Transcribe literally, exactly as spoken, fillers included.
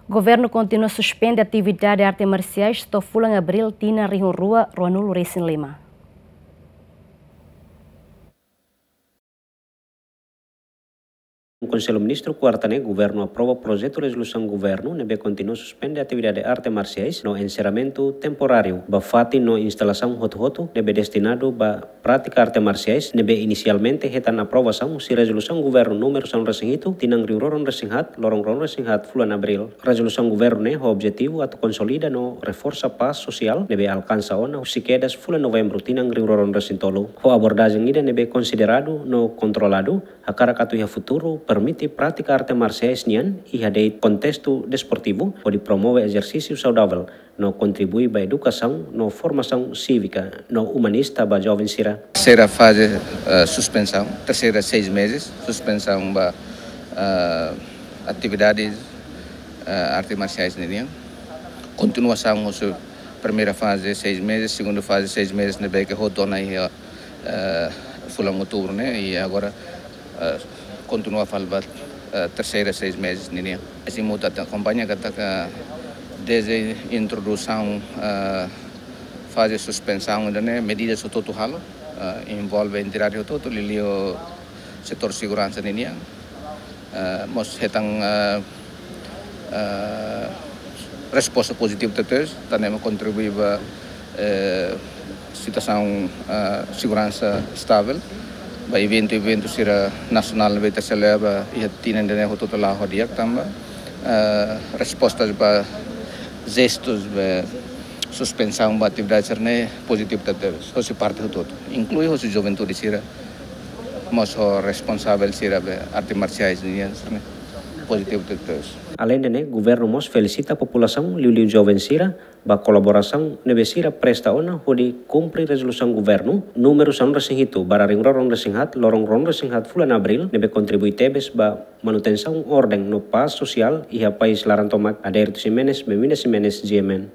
Governu kontinua suspende atividade arte marsiais to'o fulan Abríl tinan rihun rua ruanulu resin lima. Konsellu Ministru kuarta ne'e, governu aprova projetu rezolusaun governu ne'ebé kontinua suspende atividade arte marsiais no enserramentu temporáriu ba fatin no instalasaun hotu-hotu ne'ebé destinadu ba prátika arte marsiais ne'ebé inisialmente hetan aprovasaun husi rezolusaun governu númeru sanulu resin hitu tinan rihun rua ruanulu resin haat, loron ruanulu resin haat fulan Abríl. Rezolusaun governu ne'e ho objetivu atu konsolida no reforsa pás sosiál ne'ebé alkansa ona husi kedas fulan Novembru tinan rihun rua ruanulu resin tolu. Ho abordajen ida ne'ebé konsideradu no kontroladu, hakarak atu iha futuru permite prátika arte marsiais nian iha de'it kontestu desportivu, hodi promove ezersísiu saudavel no kontribui ba edukasaun no formasaun sívika no umanista ba joven sira. Terseira faze, eh, suspensaun, terseira seis mezes, suspensaun ba, eh, atividades, eh, arte marsiais ninian. Kontinuasaun husi primeira faze seis mezes, segunda faze seis mezes ne'ebé ke hotu ona iha, eh, fulan Outubru ne'e, i agora, eh, kontinua fali ba, eh, terseira seis mezes ninian. Azimuth atu akompaña katak dezde introdusaun, eh, faze suspensaun ida-ne'e, medidas hotu-hotu halo, eh, envolve entidade hotu-hotu, liuliu setór seguransa ninian. Eh, mós hetan, eh, eh, resposta pozitivu tebes, tanba kontribui ba, eh, situasaun, eh, seguransa estável ba eventu-eventu sira nasionál ne'ebé ita selebra iha tinan ida-ne'e hotu-hotu la'o di'ak tanba, eh, respostas ba jestus ba suspensaun ba atividade sira-ne'e pozitivu tebes, hosi parte hotu-hotu, inklui hosi juventude sira, mós ho responsavel sira ba arte marsiais nian sira-ne'e pozitivu tebes. Aleinde ne'e, governu mós felisita populasaun liuliu joven sira ba kolaborasaun ne'ebé sira presta ona hodi kumpre rezolusaun governu númeru sanulu resin hitu barra rihun rua ruanulu resin haat, loron ruanulu resin haat fulan Abríl, ne'ebé kontribui tebes ba manutensaun orden no pás sosiál iha país laran tomak, Adérito Ximenes, Benvinda Ximenes, G M N.